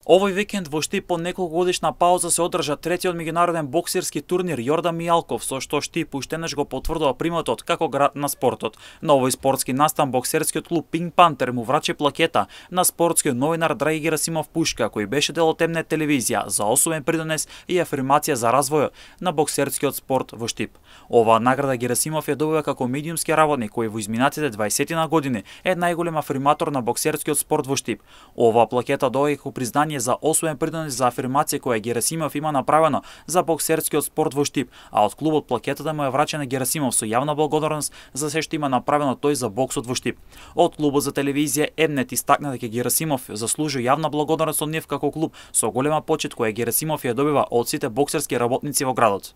Овој викенд во Штип по неколкогодишна пауза се одржа третиот меѓународен боксерски турнир Јордан Мијалков, со што Штип уште го потврдува приметот како град на спортот. На овој спортски настан боксерскиот клуб Пинк Пантер му врачи плакета на спортскиот новинар Драги Герасимов Пушка, кој беше дел од Темне телевизија за особен придонес и афирмација за развојот на боксерскиот спорт во Штип. Оваа награда Герасимов ја добива како медиумски работник кој во изминатите 20 години е најголем афирматор на боксерскиот спорт во Штип. Оваа плакета доаѓа како признање за особен придонес за афирмација која Герасимов има направено за боксерскиот спорт во Штип, а од клубот плакетата му е врачена Герасимов со јавна благодарност за се што има направено тој за боксот во Штип. Од клубот за телевизија М-нет истакна дека Герасимов заслужува јавна благодарност од нив како клуб со голема почит која Герасимов ја добива од сите боксерски работници во градот.